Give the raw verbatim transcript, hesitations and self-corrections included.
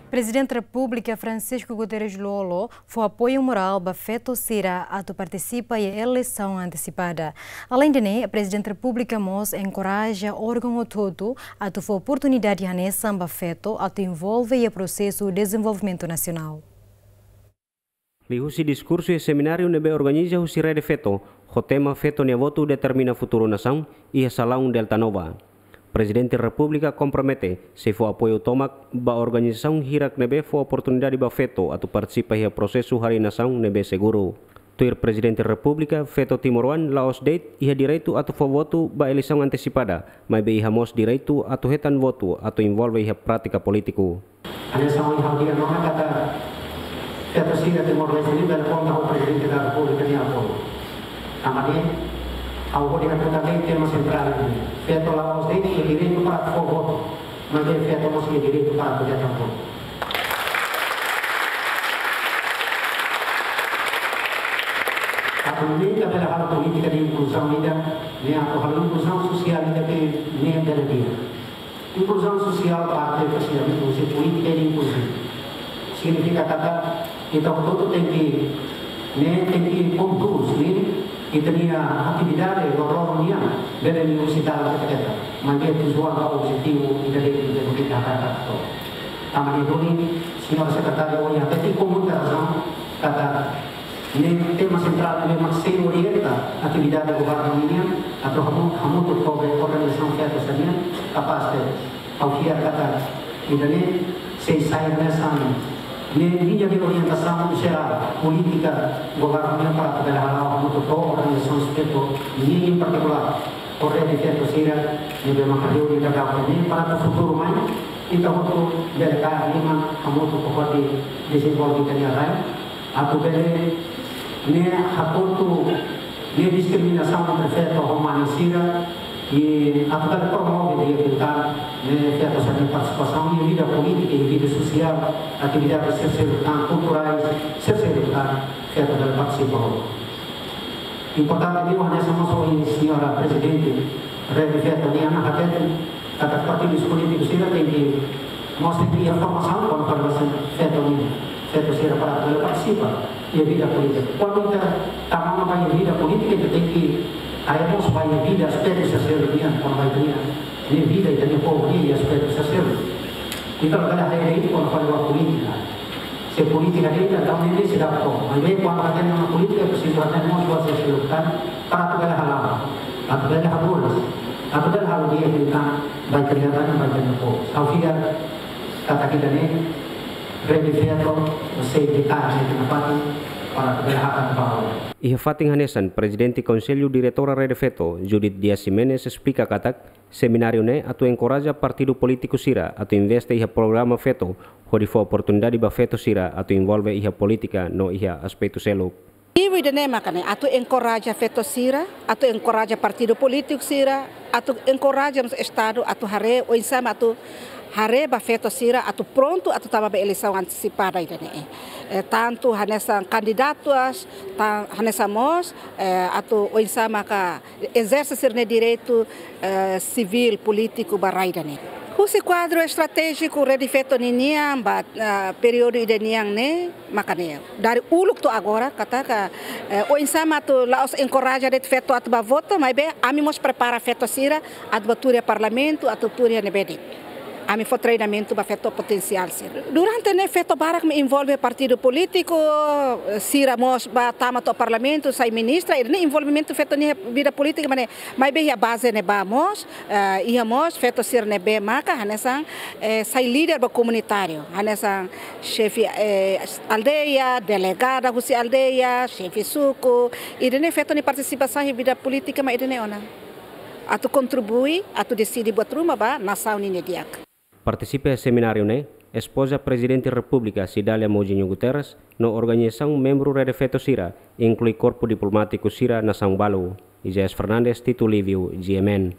Prezidente Repúblika Francisco Guterres Lú-Olo fó apoiu morál ba feto sira atu partisipa iha eleisaun antesipada. Aleinde ne'e, Prezidente Repúblika mós enkoraja órgaun hotu-hotu atu fó oportunidade hanesan ba feto atu envolve iha prosesu dezenvolvimentu nasionál. Liuhusi diskursu iha semináriu ne'ebé organiza husi Rede Feto, ho tema Feto nia votu determina futuru nasaun, iha salaun Delta Nova, Prezidente Repúblika kompromete sei fó apoiu tomak ba organizasaun hirak ne'ebé fó oportunidade ba feto atu partisipa iha prosesu harii nasaun ne'ebé seguru. Tuir Prezidente Repúblika, feto timoroan la'ós de'it iha direitu atu fó votu ba eleisaun antesipada, maibé iha mós direitu atu hetan votu atu envolve iha prátika polítiku. Hanesan ohin ha'u dehan ona katak feto sira Timor-Leste ne'e bele konta ho Prezidente da Repúblika nia apoiu. Tanba ne'e, ha'u hodi hatutan de'it tema sentrál ne'e. Feto la'ós de'it iha direitu para fó votu, maibé feto mós iha direitu para hetan votu. Atu nune'e ita bele halo polítika de inkluzaun ida, ne'e atu halo inkluzaun sosiál ida ke ne'e bele di'ak. Inkluzaun sosiál parte husi polítika de inkluzaun. Signifika katak ita hotu-hotu tenke, ne'e tenke kondús, ne'e ita-nia atividade loroloron nian bele liuhusi dalan keta-ketak. Maibé tujuan ka objetivu ida de'it ita tenke hakarak to'o. Tanba ne'e duni, señór sekretáriu, ohin hatete ho muita razaun katak ne'e tema sentrál ne'ebé mak sei orienta atividade governu nian atu hamu-, hamutuk ho organizasaun feto sira-nian kapás tebes. Ha'u fiar katak ida-ne'e sei sai hanesan ne'e liña de orientasaun jerál polítika governu nian para atu bele hala'o hamutuk ho organizasaun feto nian, em particular ho Rede Feto sira ne'ebé maka reúne daudaun ne'e para atu futuru mai ita hotu bele kaer liman hamutuk hodi dezenvolve ita-nia rai. Atu bele ne'e hakotu ne'e diskriminasaun entre feto ho mane sira, i atu bele promove di'ak liután ne'e feto sira-nia partisipasaun iha vida polítika, iha vida sosiál, atividade sira seluk tan, kulturais sira seluk tan, feto bele partisipa. Importante liu hanesan mós ohin señora Prezidente Rede Feto nian hateten, katak partidu polítiku sira tenke mós tenke iha formasaun kona-ba feto nian, feto sira para bele partisipa iha vida polítika. Kuandu ita tama ona ba iha vida polítika, ita tenke haree mós ba iha vida aspetu sira seluk nian, kona-ba ita-nia, nia vida, ita-nia povu nian iha aspetu sira seluk. Ita labele haree de'it kona-ba polítika. Se polítika de'it, entaun ne'e seidauk to'o. Maibé kuandu ita iha polítika, presiza ita mós buat sira seluk tan, para atu bele hala'o, atu bele haburas, atu bele halo di'ak liután ba ita-nia rai, ba ita-nia povu. Ha'u fiar katak ida-ne'e, Rede Feto sei dekat ne'e ita-nia fatin para atu bele hakat ba. Iha fatin hanesan, Prezidente Konsellu Diretora Rede Feto, Judith Dias Ximenes, esplika katak semináriu ne'e atu enkoraja partidu polítiku sira atu investe iha programa feto, hodi fó oportunidade ba feto sira atu envolve iha polítika no iha aspetu seluk. Objetivu ida-ne'e maka ne'e, atu enkoraja feto sira, atu enkoraja partidu polítiku sira, atu enkoraja mós Estadu atu haree oinsá mak atu haree ba feto sira atu prontu atu tama ba eleisaun antesipada ida-ne'e. Eh, tantu hanesan kandidatu as, tan-, hanesan mós, eh, atu oinsá maka ezerse sira-nia direitu, eh, sivíl, polítiku ba rai ida-ne'e. Husi kuadru estratéjiku Rede Feto ninian ba, eh, períodu ida-nian ne'e, maka ne'e, dari uluk to'o agora, katak, eh, oinsá mak atu la'ós enkoraja de'it feto atu bá vota, maibé ami mós prepara feto sira atu bá tuur iha parlamentu, atu tuur iha ne'ebé de'it. Ami fó treinamentu ba feto potensiál sira. Durante ne'e feto barak mak envolve partidu polítiku, sira mós bá tama to'o parlamentu, sai ministra, ida-ne'e envolvimentu feto nia vida polítika, maibé, maibé iha baze ne'ebá mós, eh, iha mós feto sira ne'ebé maka hanesan, eh, sai líder ba komunitáriu, hanesan xefe, eh, aldeia, delegada husi aldeia, xefe suku, ida-ne'e feto nia partisipasaun iha vida polítika mak ida-ne'e ona. Atu kontribui, atu deside buat ruma ba nasaun ninia di'ak. Partisipa iha semináriu ne'e, espoza Prezidente Repúblika Cidália Mouzinho Guterres, no organizasaun membru Rede Feto sira, inklui korpu diplomátiku sira nasaun balu. Isaias Fernandes, Tito Lívio, G M N.